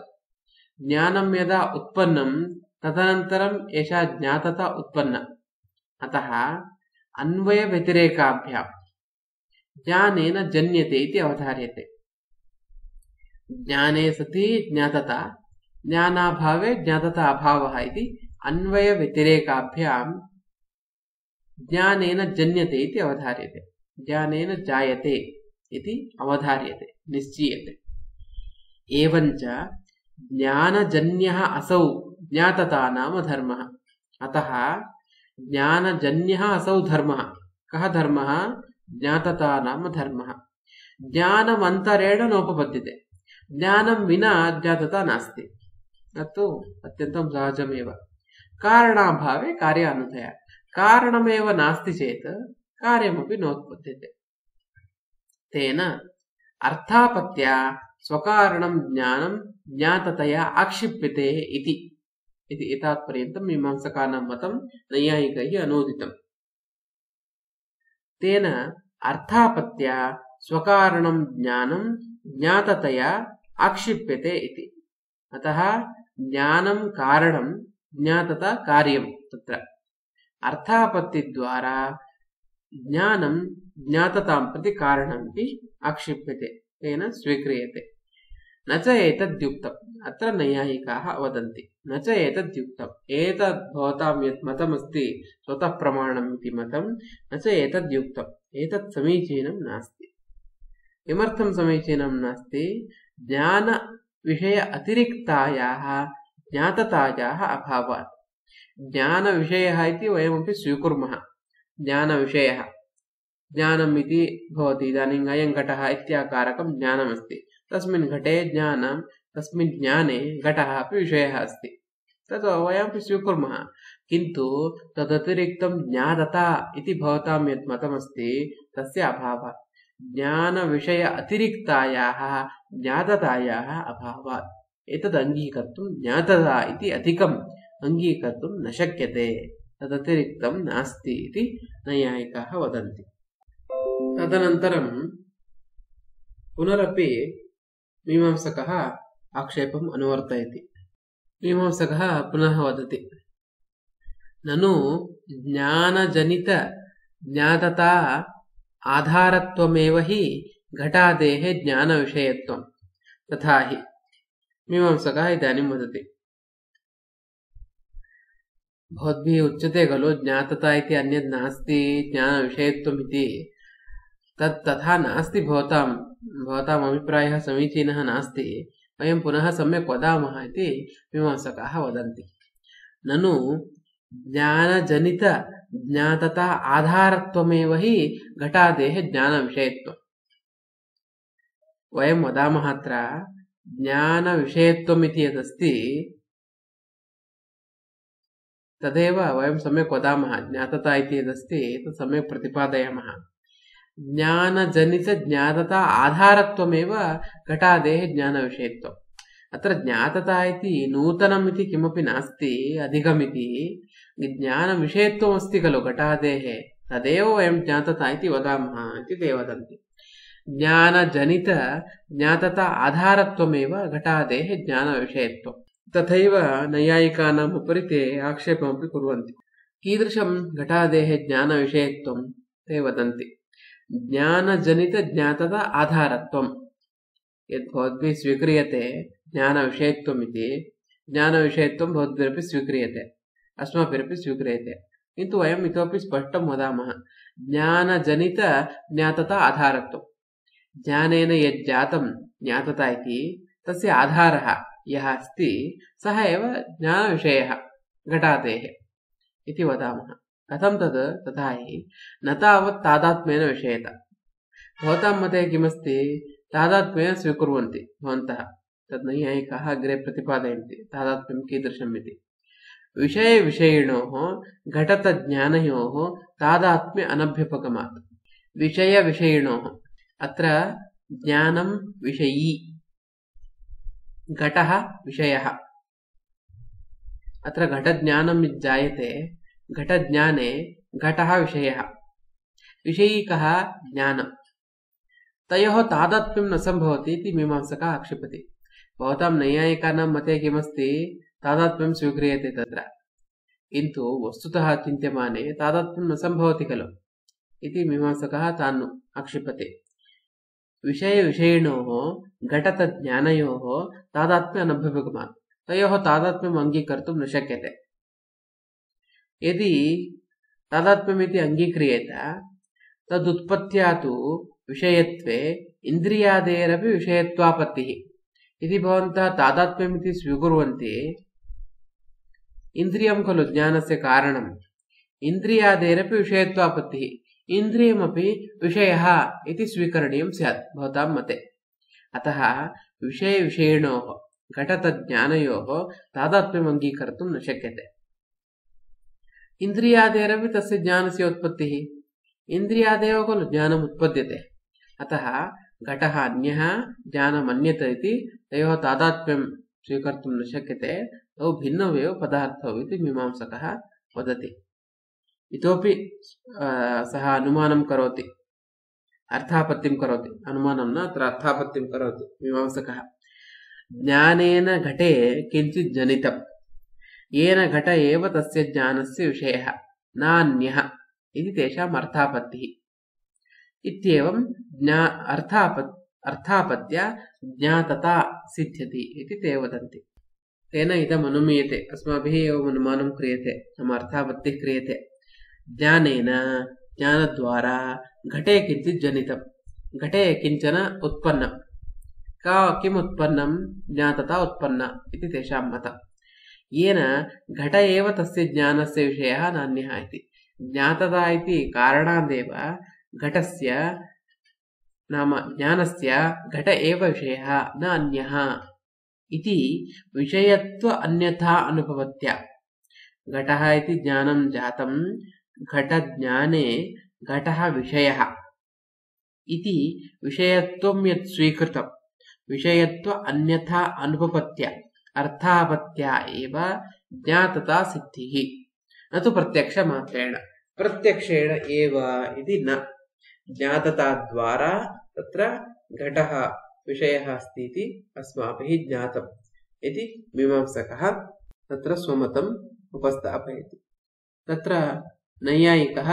ज्ञानं यदा उत्पन्नं तदनन्तरम् एषा ज्ञातता उत्पन्ना अतः अन्वयव्यतिरेकाभ्यां ज्ञानेन जन्यते इति अवधार्यते ज्ञाने सति ज्ञातता ज्ञानाभावे ज्ञातता अभावः इति अन्वयव्यतिरेकाभ्यां ज्ञानेन जन्यते इति अवधार्यते ज्ञानेन जायते इति अवधार्यते निश्चीयते एवञ्च ज्ञानजन्यः असौ ज्ञातता नाम धर्मः अतः ज्ञानजन्यः असौ धर्मः कः धर्मः ज्ञातता नाम धर्मः ज्ञानमन्तरेण नोपपद्यते ज्ञानं विना ज्ञातता नास्ति तत्तु अत्यन्तं सहजमेव कारणाभावे कार्यानुदयः कारणमेव नास्ति चेत् कार्यमपि नोत्पद्यते तेन अर्थापत्या स्वकारणं ज्ञानं ज्ञाततया आक्षिप्यते इति एतावत्पर्यन्तं मीमांसकानां मतं नैयायिकैः अनूदितम् तेन अर्थापत्या स्वकारणं ज्ञानं ज्ञाततया आक्षिप्यते इति अतः ज्ञानं कारणं ज्ञातता कार्यं तत्र अर्थापत्तिद्वारा ज्ञानं ज्ञाततां प्रति कारणमिति आक्षिप्यते तेन स्वीक्रियते न च एतद्युक्तम् अत्र नैयायिकाः वदन्ति न च एतद्युक्तम् एतद् भवतां यत् मतमस्ति स्वतः प्रमाणम् इति मतं न च एतद्युक्तम् एतत् समीचीनं नास्ति किमर्थं समीचीनं नास्ति ज्ञानविषय अतिरिक्तायाः ज्ञाततायाः अभावात् ज्ञानविषयः इति वयमपि स्वीकुर्मः ज्ञानविषयः ज्ञानम् इति भवति इदानीम् अयं घटः इत्याकारकं ज्ञानमस्ति तस्मिन् घटे ज्ञानं तस्मिन् ज्ञाने घटः अपि विषयः अस्ति तत् वयमपि स्वीकुर्मः किन्तु तदतिरिक्तं ज्ञातता इति भवतां यत् मतमस्ति तस्य अभावः ज्ञानविषय अतिरिक्तायाः ज्ञाततायाः अभावात् एतद् अङ्गीकर्तुं ज्ञातता इति अधिकम् अङ्गीकर्तुं न शक्यते, तदतिरिक्तं नास्ति इति नैयायिकाः वदन्ति। तदनन्तरं पुनरपि मीमांसकः आक्षेपम् अनुवर्तयति। मीमांसकः पुनः वदति, ननु ज्ञानजनित ज्ञातता आधारत्वमेव हि घटादेः ज्ञानविषयत्वं तथा हि। मीमांसकः इदानीं वदति, भवद्भिः उच्यते खलु ज्ञातता इति अन्यत् नास्ति ज्ञानविषयत्वम् इति, तत् तथा नास्ति, भवताम् अभिप्रायः समीचीनः नास्ति, वयं पुनः सम्यक् वदामः इति मीमांसकाः वदन्ति। ननु ज्ञानजनित ज्ञातता आधारत्वमेव हि घटादेः ज्ञानविषयत्वम्। वयं वदामः अत्र ज्ञानविषयत्वम् इति यदस्ति तदेव वयं सम्यक् वदामः, ज्ञातता इति यदस्ति तत् सम्यक् प्रतिपादयामः। ज्ञानजनित ज्ञातता आधारत्वमेव घटादेः ज्ञानविषयत्वम्। अत्र ज्ञातता इति नूतनम् इति किमपि नास्ति, अधिकमिति, ज्ञानविषयत्वम् अस्ति खलु घटादेः, तदेव वयं ज्ञातता इति वदामः इति ते वदन्ति। ज्ञानजनित ज्ञातता आधारत्वमेव घटादेः ज्ञानविषयत्वम्। तथैव नैयायिकानाम् उपरि ते आक्षेपमपि कुर्वन्ति। कीदृशं घटादेः ज्ञानविषयत्वं ते वदन्ति, ज्ञानजनित ज्ञातता आधारत्वम्। यद् भवद्भिः स्वीक्रियते ज्ञानविषयत्वम् इति, ज्ञानविषयत्वं भवद्भिरपि स्वीक्रियते, अस्माभिरपि स्वीक्रियते, किन्तु वयम् इतोपि स्पष्टं वदामः, ज्ञानजनित ज्ञातता आधारत्वम्। ज्ञानेन यज्जातं ज्ञातता इति तस्य आधारः यः अस्ति सः एव ज्ञानविषयः घटादेः इति वदामः। कथं तद्? तथा हि न तावत् तादात्म्येन विषयेत। भवतां मते किमस्ति? तादात्म्येन स्वीकुर्वन्ति भवन्तः, तद् नैयायिकाः अग्रे प्रतिपादयन्ति तादात्म्यं कीदृशम् इति। विषयविषयिणोः घटतज्ञानयोः तादात्म्य अनभ्युपगमात्। विषयविषयिणोः, अत्र ज्ञानं विषयी, घटः विषयः। अत्र घटज्ञानं जायते, घटज्ञाने घटः विषयः, विषयी कः? ज्ञानं। तयोः तादात्म्यं न सम्भवति इति मीमांसकः आक्षेपति। भवतां नैयायिकानां मते किमस्ति? तादात्म्यं स्वीक्रियते तत्र, किन्तु वस्तुतः चिन्त्यमाने तादात्म्यं न सम्भवति खलु इति मीमांसकः तान् आक्षेपति। विषयविषयिणोः घटतज्ञानयोः तादात्म्य अनभ्युपगमात्, तयोः तादात्म्यम् अङ्गीकर्तुं न शक्यते। यदि तादात्म्यमिति अङ्गीक्रियेत तदुत्पत्त्या तु विषयत्वे इन्द्रियादेरपि विषयत्वापत्तिः। यदि भवन्तः तादात्म्यमिति स्वीकुर्वन्ति, इन्द्रियं खलु ज्ञानस्य कारणम्, इन्द्रियादेरपि विषयत्वापत्तिः, इन्द्रियमपि विषयः इति स्वीकरणीयं स्यात् भवतां मते। अतः विषयविषयिणोः घटतज्ञानयोः तादात्म्यम् अङ्गीकर्तुं न शक्यते। इन्द्रियादेरपि तस्य ज्ञानस्य उत्पत्तिः, इन्द्रियादेव खलु ज्ञानम् उत्पद्यते। अतः घटः अन्यः ज्ञानम् अन्यत् इति तयोः तादात्म्यं स्वीकर्तुं न शक्यते, तौ भिन्नमेव पदार्थौ इति मीमांसकः वदति। इतोपि सः अनुमानं करोति, अर्थापत्तिं करोति, अनुमानं न, अत्र अर्थापत्तिं करोति मीमांसकः। ज्ञानेन घटे किञ्चित् जनितं, येन घट एव तस्य ज्ञानस्य विषयः, नान्यः इति तेषाम् अर्थापत्तिः। इत्येवं अर्थापत्या ज्ञातता सिद्ध्यति इति ते वदन्ति। तेन इदम् अनुमीयते, अस्माभिः एवम् अनुमानं क्रियते, नाम अर्थापत्तिः क्रियते। ज्ञानेन, ज्ञानद्वारा घटे किञ्चित् जनितं, घटे किञ्चन उत्पन्नं। किम् उत्पन्नं? ज्ञातता उत्पन्ना इति तेषां मतं। येन घट एव तस्य ज्ञानस्य विषयः नान्यः इति। ज्ञातता इति कारणादेव घटस्य नाम ज्ञानस्य घट एव विषयः न अन्यः इति विषयत्व अन्यथा अनुभवत्या। घटः इति ज्ञानं जातं, घटज्ञाने घटः विषयः इति विषयत्वं यत् स्वीकृतं विषयत्व अन्यथा अनुपपत्या अर्थापत्या एव ज्ञातता सिद्धिः न तु प्रत्यक्षमात्रेण प्रत्यक्षेण एव इति न ज्ञातता द्वारा तत्र घटः विषयः अस्ति इति अस्माभिः ज्ञातम् इति मीमांसकः तत्र स्वमतम् उपस्थापयति। तत्र नैयायिकः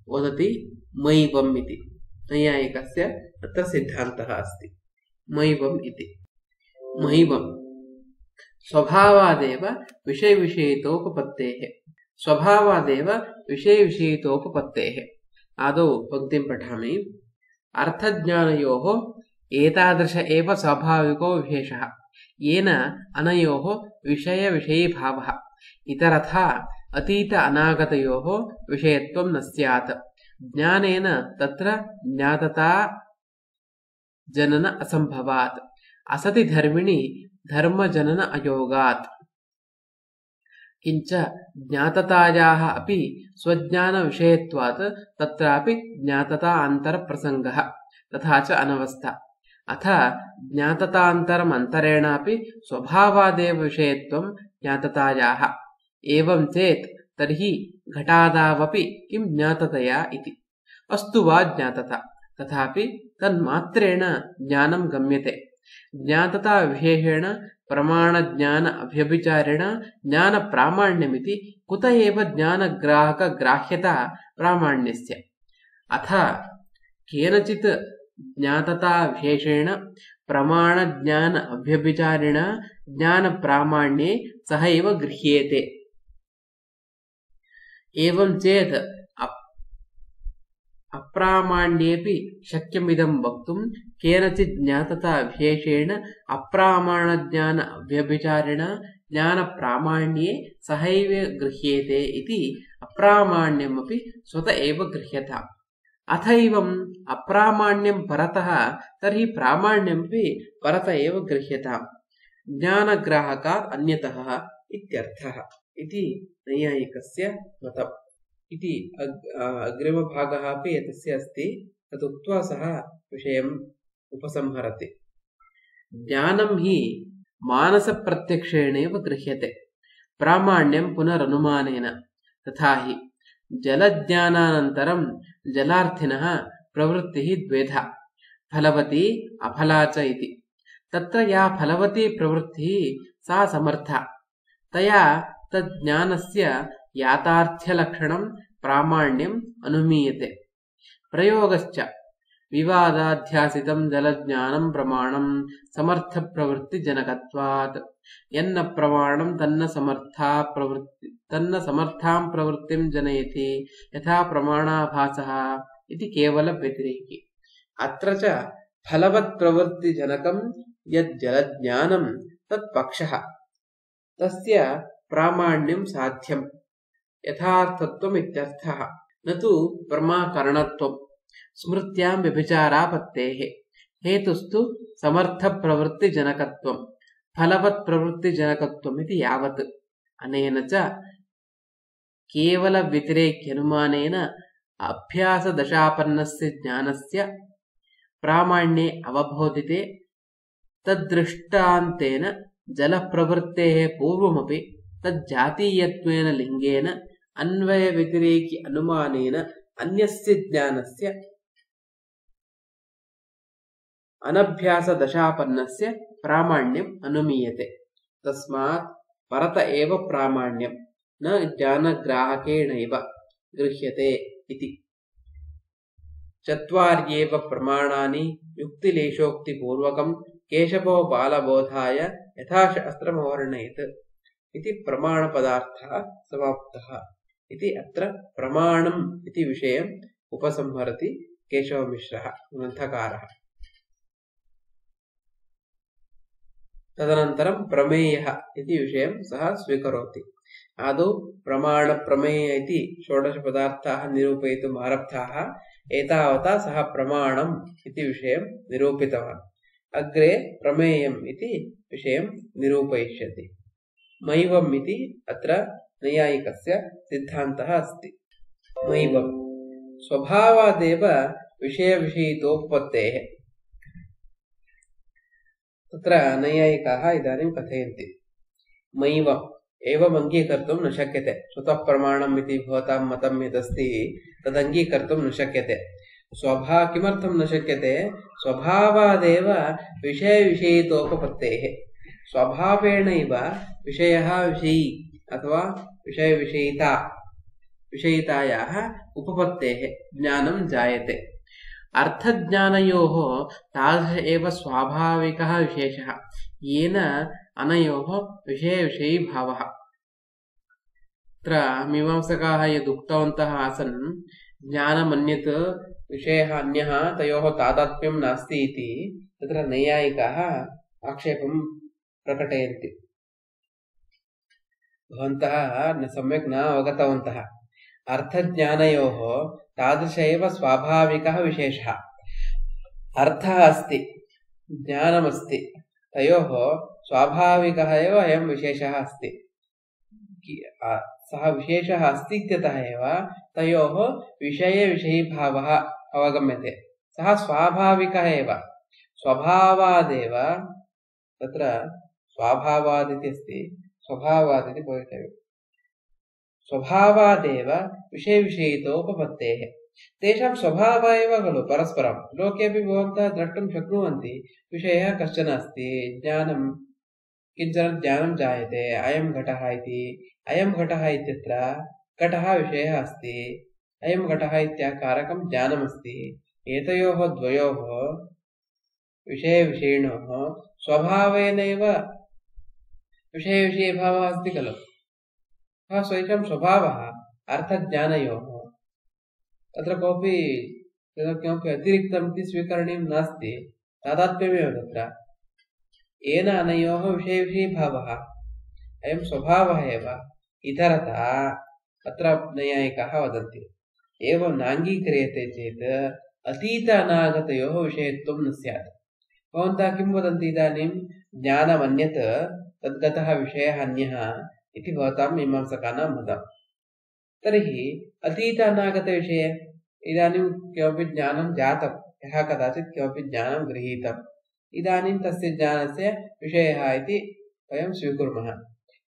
वदति मैवम् इति। नैयायिकस्य तत्र सिद्धान्तः अस्ति मैवम् इति। मैवम् स्वभावादेव विषयविषयितोपपत्तेः स्वभावादेव विषयविषयितोपपत्तेः। आदौ पङ्क्तिं पठामि। अर्थज्ञानयोः एतादृश एव स्वाभाविको विशेषः येन अनयोः विषयविषयीभावः इतरथा अतीत अनागतयोः विषयत्वं न स्यात्। ज्ञानेन तत्र ज्ञातता जनन असम्भवात् असति धर्मिणि धर्मजनन अयोगात्। किञ्च ज्ञाततायाः अपि स्वज्ञानविषयत्वात् तत्रापि ज्ञातता अन्तरप्रसङ्गः तथा च अनवस्था। अथ ज्ञाततान्तरम् अन्तरेणापि स्वभावादेव विषयत्वं ज्ञाततायाः। एवं चेत् तर्हि घटादावपि किं ज्ञाततया इति। अस्तु वा ज्ञातता तथापि तन्मात्रेण ज्ञानं गम्यते। ज्ञातता विशेषेण प्रमाणज्ञान अभ्यभिचारेण ज्ञान प्रामाण्यमिति कुत एव ज्ञानग्राहक ग्राह्यता प्रामाण्यस्य। अथ केनचित् ज्ञातता विशेषेण प्रमाणज्ञान अभ्यभिचारेण ज्ञान प्रामाण्ये सहैव गृह्येते। एवं चेत् अप्रामाण्येपि शक्यमिदं वक्तुं केनचित् ज्ञातता विशेषेण अप्रामाणज्ञान अभ्यभिचारेण ज्ञान प्रामाण्ये सहैव गृह्येते इति। अप्रामाण्यमपि स्वत एव गृह्यताम्। अथैवम् अप्रामाण्यं परतः तर्हि प्रामाण्यमपि परत एव गृह्यताम् ज्ञानग्राहकात् अन्यतः इत्यर्थः इति नैयायिकस्य मतम्। इति अग्रिमभागः अपि एतस्य अस्ति। तदुक्त्वा सः विषयम् उपसंहरति। ज्ञानं हि मानसप्रत्यक्षेणैव गृह्यते प्रामाण्यं पुनरनुमानेन। तथा हि जलज्ञानानन्तरं जलार्थिनः प्रवृत्तिः द्वेधा फलवती अफला च इति। तत्र या फलवती प्रवृत्तिः सा समर्था तया तज्ज्ञानस्य याथार्थ्यलक्षणं प्रामाण्यम् अनुमीयते। प्रयोगश्च विवादाध्यासितं जलज्ञानं प्रमाणं समर्थप्रवृत्तिजनकत्वात्। यन्न प्रमाणं तन्न समर्थां प्रवृत्तिं जनयति यथा प्रमाणाभासः इति केवलव्यतिरेकी। अत्र च फलवत्प्रवृत्तिजनकं यद् जलज्ञानं तत्पक्षः तस्य प्रामाण्यं साध्यम् यथार्थत्वम् इत्यर्थः न तु प्रमाकरणत्वम्। स्मृत्यां व्यभिचारापत्तेः हेतुस्तु समर्थप्रवृत्तिजनकत्वम् फलवत्प्रवृत्तिजनकत्वम् इति यावत्। अनेन च केवलव्यतिरेक्यनुमानेन अभ्यासदशापन्नस्य ज्ञानस्य प्रामाण्ये अवबोधिते। तद्दृष्टान्तेन जलप्रवृत्तेः पूर्वमपि तज्जातीयत्वेन लिङ्गेन अन्वयव्यतिरेकि अनुमानेन अन्यस्य ज्ञानस्य अनभ्यासदशापन्नस्य प्रामाण्यम् अनुमीयते। तस्मात् परत एव प्रामाण्यं न ज्ञानग्राहकेणैव गृह्यते इति। चत्वार्येव प्रमाणानि युक्तिलेशोक्तिपूर्वकं केशवो बालबोधाय यथाशास्त्रमवर्णयत् इति प्रमाणपदार्थः समाप्तः इति। अत्र प्रमाणम् इति विषयम् उपसंहरति केशवमिश्रः ग्रन्थकारः। तदनन्तरं प्रमेयः इति विषयं सः स्वीकरोति। आदौ प्रमाणप्रमेय इति षोडशपदार्थाः निरूपयितुम् आरब्धाः। एतावता सः प्रमाणम् इति विषयं निरूपितवान्। अग्रे प्रमेयम् इति विषयं निरूपयिष्यति। मैवम् इति अत्र नैयायिकस्य सिद्धान्तः अस्ति। मैवम् स्वभावादेव विषयविषयितोपपत्तेः। तत्र नैयायिकाः इदानीं कथयन्ति मैवम् एवम् अङ्गीकर्तुं न शक्यते। स्वतः प्रमाणम् इति भवतां मतं यदस्ति तदङ्गीकर्तुं न शक्यते। किमर्थं न शक्यते? स्वभावादेव विषयविषयितोपपत्तेः। स्वभावेनैव विषयः विषयी अथवा विषयितायाः उपपत्तेः ज्ञानं जायते। अर्थज्ञानयोः तादृश एव स्वाभाविकः विशेषः येन अनयोः विषयविषयीभावः। अत्र मीमांसकाः यदुक्तवन्तः आसन् ज्ञानमन्यत् विषयः अन्यः तयोः तादात्म्यं नास्ति इति, तत्र नैयायिकाः आक्षेपं प्रकटयन्ति। भवन्तः सम्यक् न अवगतवन्तः। अर्थज्ञानयोः तादृश एव स्वाभाविकः विशेषः। अर्थः अस्ति, ज्ञानमस्ति, तयोः स्वाभाविकः एव अयं विशेषः अस्ति। सः विशेषः अस्ति इत्यतः एव तयोः विषयविषयीभावः अवगम्यते। सः स्वाभाविकः एव, स्वभावादेव। तत्र स्वाभावादिति अस्ति, स्वभावादिति भवितव्यम्। स्वभावादेव विषयविषयितोपपत्तेः। तेषां स्वभावः एव खलु परस्परं। लोकेऽपि भवन्तः द्रष्टुं शक्नुवन्ति, विषयः कश्चन अस्ति, ज्ञानं, किञ्चन ज्ञानं जायते, अयं घटः इति। अयं घटः इत्यत्र घटः विषयः अस्ति, अयं घटः इत्याकारकं ज्ञानमस्ति। एतयोः द्वयोः विषयविषयिणोः स्वभावेनैव विषयविषयीभावः अस्ति खलु। स्वयं स्वभावः अर्थज्ञानयोः। तत्र किमपि अतिरिक्तम् इति स्वीकरणीयं नास्ति, तादात्म्यमेव तत्र। येन अनयोः विषयविषयीभावः अयं स्वभावः एव। इतरता अत्र नैयायिकाः वदन्ति एवं नाङ्गीक्रियते चेत् अतीत अनागतयोः विषयत्वं न स्यात्। भवन्तः किं वदन्ति इदानीं? ज्ञानमन्यत् तद्गतः विषयः अन्यः इति भवतां मीमांसकानां मतं। तर्हि अतीत अनागतविषये इदानीं किमपि ज्ञानं जातं, ह्यः कदाचित् किमपि ज्ञानं गृहीतम्, इदानीं तस्य ज्ञानस्य विषयः इति वयं स्वीकुर्मः।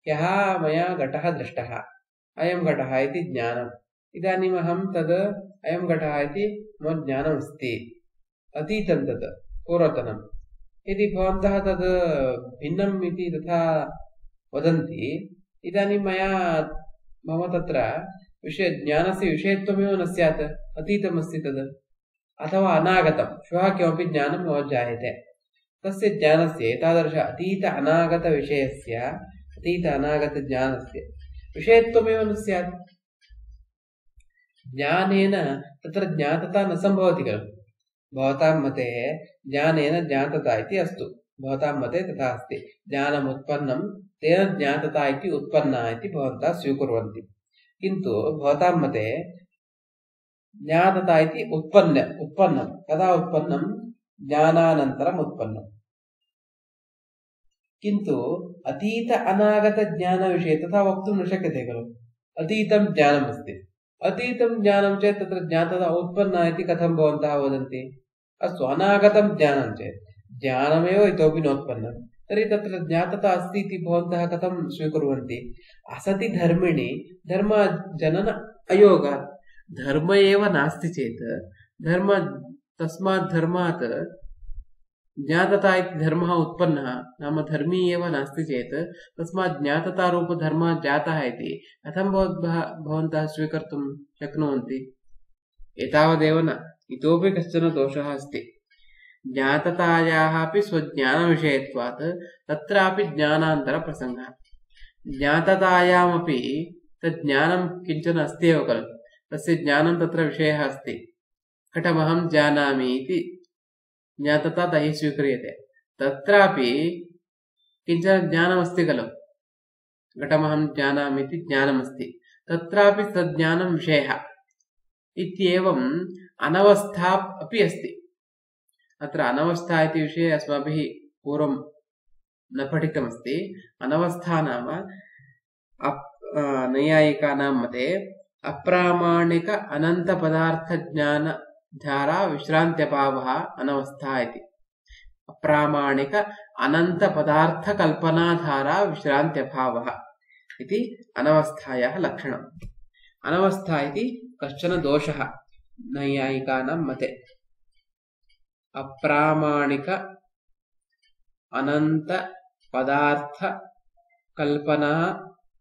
ह्यः मया घटः दृष्टः, अयं घटः इति ज्ञानम्। इदानीम् अहं अयं घटः इति मम ज्ञानमस्ति। अतीतं तत् पूर्वतनं। यदि भवन्तः तद् भिन्नम् इति तथा वदन्ति, इदानीं मम तत्र ज्ञानस्य विषयत्वमेव न स्यात्, अतीतमस्ति तद्। अथवा अनागतं, श्वः किमपि ज्ञानं मम जायते, तस्य ज्ञानस्य एतादृश अतीत अनागतविषयस्य, अतीत अनागतज्ञानस्य विषयत्वमेव न स्यात्। ज्ञानेन तत्र ज्ञातता न सम्भवति खलु। भवतां मते ज्ञानेन ज्ञातता इति अस्तु, भवतां मते तथा अस्ति। ज्ञानमुत्पन्नं तेन ज्ञातता इति उत्पन्ना इति भवन्तः स्वीकुर्वन्ति। किन्तु भवतां मते ज्ञातता इति उत्पन्नं कदा उत्पन्नं? ज्ञानानन्तरम् उत्पन्नं। किन्तु अतीत अनागत ज्ञानविषये तथा वक्तुं न शक्यते खलु। अतीतं ज्ञानमस्ति, अतीतं ज्ञानं चेत् तत्र ज्ञातता उत्पन्ना इति कथं भवन्तः वदन्ति? अस्तु, अनागतं ज्ञानं चेत् ज्ञानमेव इतोपि नोत्पन्नं, तर्हि तत्र ज्ञातता अस्ति इति भवन्तः कथं स्वीकुर्वन्ति? असति धर्मिणि धर्मजनन अयोगात्। धर्म एव नास्ति चेत् तस्मात् धर्मात् ज्ञातता इति धर्मः उत्पन्नः, नाम धर्मी एव नास्ति चेत् तस्मात् ज्ञाततारूपधर्मः जातः इति कथं भवन्तः स्वीकर्तुं शक्नुवन्ति? एतावदेव न, इतोपि कश्चन दोषः अस्ति। ज्ञाततायाः अपि स्वज्ञानविषयत्वात् तत्रापि ज्ञानान्तरप्रसङ्गः। ज्ञाततायामपि तज्ज्ञानं किञ्चन अस्ति एव खलु, तस्य ज्ञानं तत्र विषयः अस्ति। घटमहं जानामि इति ज्ञातता तैः स्वीक्रियते, तत्रापि किञ्चन ज्ञानमस्ति खलु। घटमहं जानामि इति ज्ञानमस्ति, तत्रापि तज्ज्ञानं विषयः इत्येवम् अनवस्था अपि अस्ति। अत्र अनवस्था इति विषये अस्माभिः पूर्वं न पठितमस्ति। अनवस्था नाम नैयायिकानां मते अप्रामाणिक अनन्तपदार्थज्ञान धारा विश्रान्त्यभावः अनवस्था इति अप्रामाणिक अनंत पदार्थ कल्पना धारा विश्रान्त्यभावः इति अनवस्थायाः लक्षणम् अनवस्था इति कश्चन दोषः नैयायिकानां मते अप्रामाणिक अनंत पदार्थ कल्पना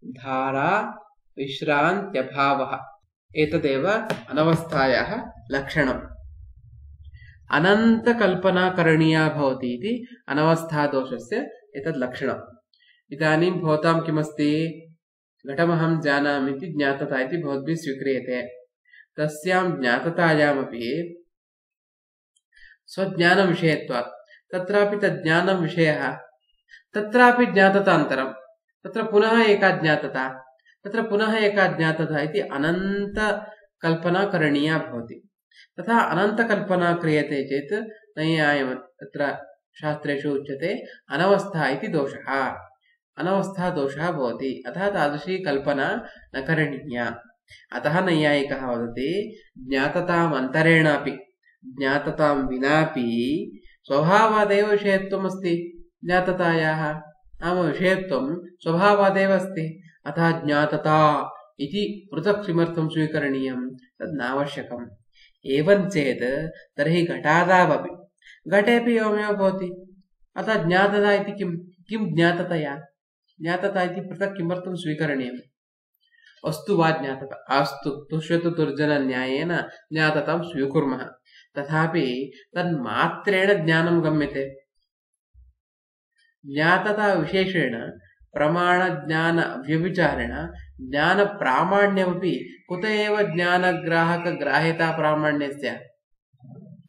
धारा विश्रान्त्यभावः एतदेव अनवस्थायाः लक्षणम् अनंत कल्पना करणीया भवति इति अनवस्था दोषस्य एतद् लक्षणम् इदानीं भवतां किमस्ति घटमहं जानामि इति ज्ञातता इति भवद्भिः स्वीक्रियते तस्यां ज्ञाततायामपि स्वज्ञानविषयत्वात् तत्रापि तज्ज्ञानविषयः तत्रापि ज्ञाततान्तरं तत्र पुनः एका ज्ञातता तत्र पुनः एका ज्ञातता इति अनंत कल्पना करणीया भवति तथा अनंत कल्पना क्रियते चेत् नैयायिक तत्र शास्त्रेषु उच्यते अनवस्था इति दोषः अनवस्था दोषः भवति अतः तादृशी कल्पना न करणीया अतः नैयायिकः वदति ज्ञातताम् अन्तरेणापि ज्ञाततां विनापि स्वभावादेव विषयत्वम् अस्ति ज्ञाततायाः नाम विषयत्वं स्वभावादेव अस्ति अतः ज्ञातता इति पृथक् किमर्थं स्वीकरणीयं तद् नावश्यकम् एवं चेत् तर्हि घटादावपि घटेपि एवमेव भवति अतः ज्ञातता इति किं ज्ञाततया ज्ञातता इति पृथक् किमर्थं स्वीकरणीयम् अस्तु वा ज्ञातता अस्तु तुष्यतु तुर्जनन्यायेन ज्ञाततां स्वीकुर्मः तथापि तन्मात्रेण ज्ञानं गम्यते ज्ञातता विशेषेण प्रमाण ज्ञान व्यभिचारेण ज्ञान प्रामाण्यमपि कुत एव ज्ञानग्राहक ग्राह्यता प्रामाण्यस्य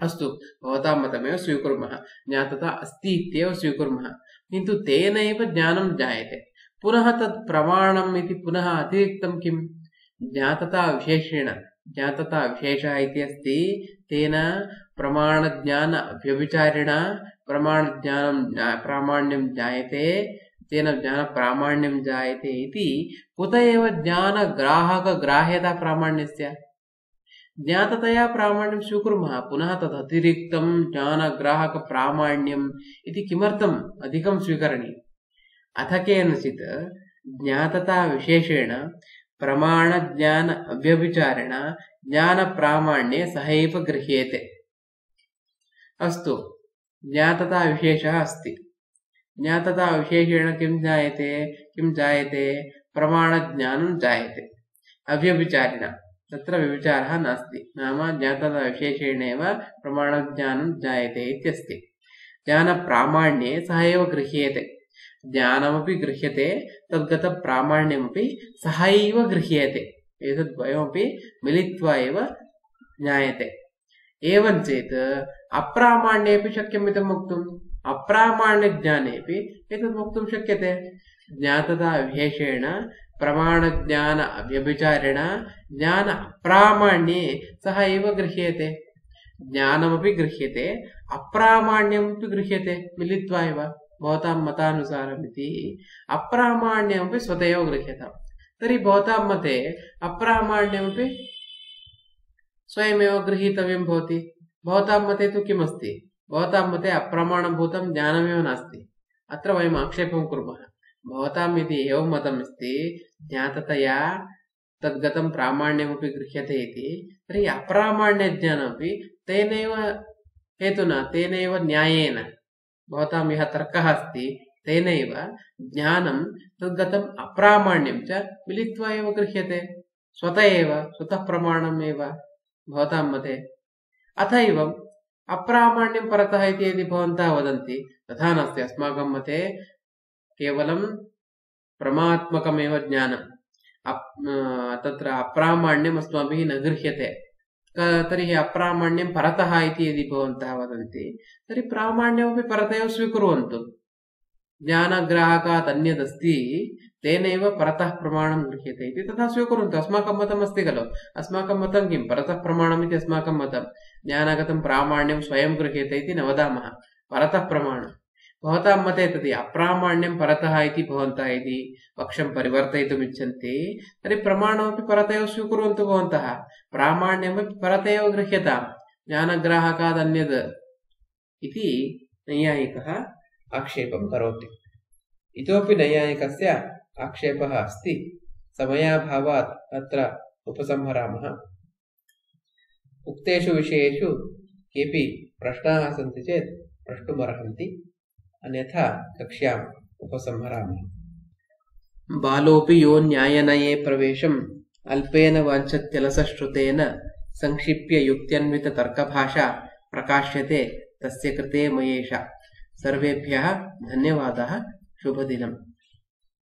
अस्तु भवतां मतमेव स्वीकुर्मः ज्ञातता अस्ति इत्येव स्वीकुर्मः किन्तु तेनैव ज्ञानं जायते पुनः तत् प्रमाणम् इति पुनः अतिरिक्तं किं ज्ञातता विशेषेण ज्ञातता विशेषः इति अस्ति तेन प्रमाणज्ञान व्यभिचारेण प्रमाणज्ञानं प्रामाण्यं जायते तेन ज्ञान प्रामाण्यं जायते इति कुत एव ज्ञान ग्राहक ग्राह्यता प्रामाण्यस्य ज्ञाततया प्रामाण्यं स्वीकुर्मः पुनः तद् अतिरिक्तं ज्ञान ग्राहक प्रामाण्यम् इति किमर्थम् अधिकं स्वीकरणीयम् अथ केनचित् ज्ञातता विशेषेण प्रमाण ज्ञान अव्यभिचारेण ज्ञान प्रामाण्ये सहैव गृह्येते अस्तु ज्ञातता विशेषः अस्ति ज्ञातता विशेषेण किं जायते प्रमाणज्ञानं जायते अव्यभिचारेण तत्र व्यभिचारः नास्ति नाम ज्ञातता विशेषेणेव प्रमाणज्ञानं जायते इत्यस्ति ज्ञानप्रामाण्ये सह एव गृह्येते ज्ञानमपि गृह्यते तद्गत प्रामाण्यमपि सह एव गृह्येते एतद्वयमपि मिलित्वा एव ज्ञायते एवं चेत् अप्रामाण्येपि शक्यमिदं वक्तुम् अप्रामाण्यज्ञानेपि एतद् वक्तुं शक्यते ज्ञातता विशेषेण प्रमाणज्ञान अव्यभिचारेण ज्ञान अप्रामाण्ये सह एव गृह्यते ज्ञानमपि गृह्यते अप्रामाण्यमपि गृह्यते मिलित्वा एव भवतां मतानुसारमिति अप्रामाण्यमपि स्वतः गृह्यताम् तर्हि भवतां मते अप्रामाण्यमपि स्वयमेव गृहीतव्यं भवति भवतां मते तु किमस्ति भवतां मते अप्रमाणभूतं ज्ञानमेव नास्ति अत्र वयम् आक्षेपं कुर्मः भवतां यदि एवं मतमस्ति ज्ञाततया तद्गतं प्रामाण्यमपि गृह्यते इति तर्हि अप्रामाण्यज्ञानमपि तेनैव हेतुना तेनैव न्यायेन भवतां यः तर्कः अस्ति तेनैव ज्ञानं तद्गतम् अप्रामाण्यं च मिलित्वा एव गृह्यते स्वतः प्रमाणम् एव भवतां मते अथ एवम् अप्रामाण्यं परतः इति यदि भवन्तः वदन्ति तथा नास्ति अस्माकं मते केवलं प्रमात्मकमेव ज्ञानं तत्र अप्रामाण्यम् अस्माभिः न गृह्यते तर्हि अप्रामाण्यं परतः इति यदि भवन्तः वदन्ति तर्हि प्रामाण्यमपि परतः स्वीकुर्वन्तु ज्ञानग्राहकात् अन्यदस्ति तेनैव परतः प्रमाणं गृह्यते इति तथा स्वीकुर्वन्तु अस्माकं मतमस्ति खलु अस्माकं मतं किं परतः प्रमाणम् इति अस्माकं मतं ज्ञानगतं प्रामाण्यं स्वयं गृह्यते इति न वदामः परतः प्रमाणं भवतां मते तद् अप्रामाण्यं परतः इति भवन्तः यदि पक्षं परिवर्तयितुम् इच्छन्ति तर्हि प्रमाणमपि परतः स्वीकुर्वन्तु भवन्तः प्रामाण्यमपि परतः गृह्यताम् ज्ञानग्राहकादन्यद् इति नैयायिकः आक्षेपं करोति। इतोपि नैयायिकस्य आक्षेपः अस्ति, समयाभावात् अत्र उपसंहरामः। उक्तेषु विषयेषु केऽपि प्रश्नाः सन्ति चेत् प्रष्टुमर्हन्ति, अन्यथा कक्ष्याम् उपसंहरामः। बालोऽपि यो न्यायनये प्रवेशम् अल्पेन वाञ्छत्यलसश्रुतेन संक्षिप्य युक्त्यन्विततर्कभाषा प्रकाश्यते तस्य कृते मयेषा। सर्वेभ्यः धन्यवादः। शुभदिनम्।